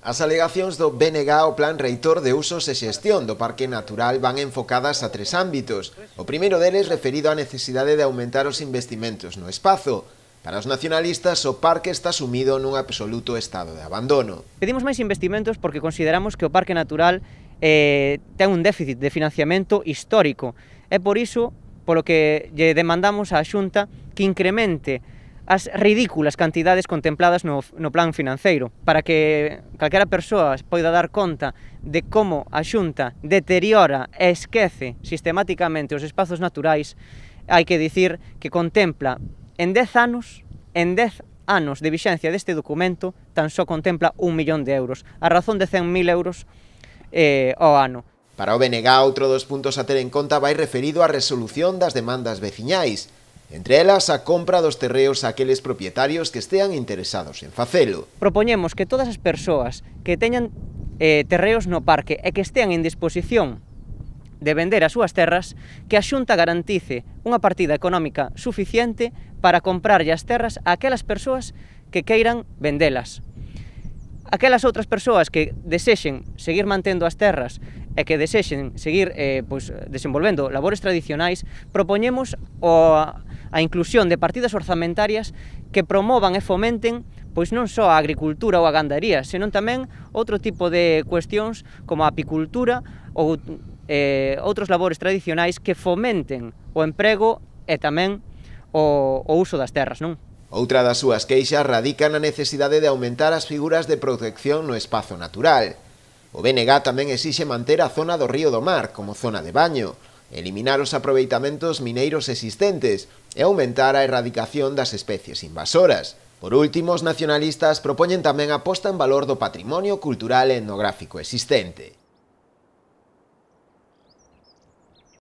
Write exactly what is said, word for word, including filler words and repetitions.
As alegacións do B N G ao Plan Reitor de Usos e Xestión do Parque Natural van enfocadas a tres ámbitos. O primeiro deles referido á necesidade de aumentar os investimentos no espazo. Para os nacionalistas, o parque está sumido nun absoluto estado de abandono. Pedimos máis investimentos porque consideramos que o Parque Natural eh, ten un déficit de financiamento histórico. É por iso polo que lle demandamos á Xunta que incremente as ridículas cantidades contempladas no, no plan financeiro, para que calquera persoa poida dar conta de como a Xunta deteriora e esquece sistemáticamente os espazos naturais. Hai que dicir que contempla en dez anos, en dez anos de vixencia deste documento, tan só contempla un millón de euros, a razón de cen mil euros eh, ao ano. Para o B N G, outro dos puntos a ter en conta vai referido á resolución das demandas veciñais, entre elas a compra dos terreos a aqueles propietarios que estean interesados en facelo. Propoñemos que todas as persoas que teñan eh, terreos no parque e que estean en disposición de vender as súas terras, que a Xunta garantice unha partida económica suficiente para comprarlle as terras a aquelas persoas que queiran vendelas. Aquelas outras persoas que desexen seguir mantendo as terras e que desexen seguir eh, pois, desenvolvendo labores tradicionais, propoñemos o, a inclusión de partidas orzamentarias que promovan e fomenten pois non só a agricultura ou a gandaría, senón tamén outro tipo de cuestións como a apicultura ou eh, outros labores tradicionais que fomenten o emprego e tamén o, o uso das terras, non? Outra das súas queixas radica na necesidade de aumentar as figuras de protección no espazo natural. O B N G tamén exixe manter a zona do Río do Mar como zona de baño, eliminar os aproveitamentos mineiros existentes e aumentar a erradicación das especies invasoras. Por último, os nacionalistas propoñen tamén a posta en valor do patrimonio cultural e etnográfico existente.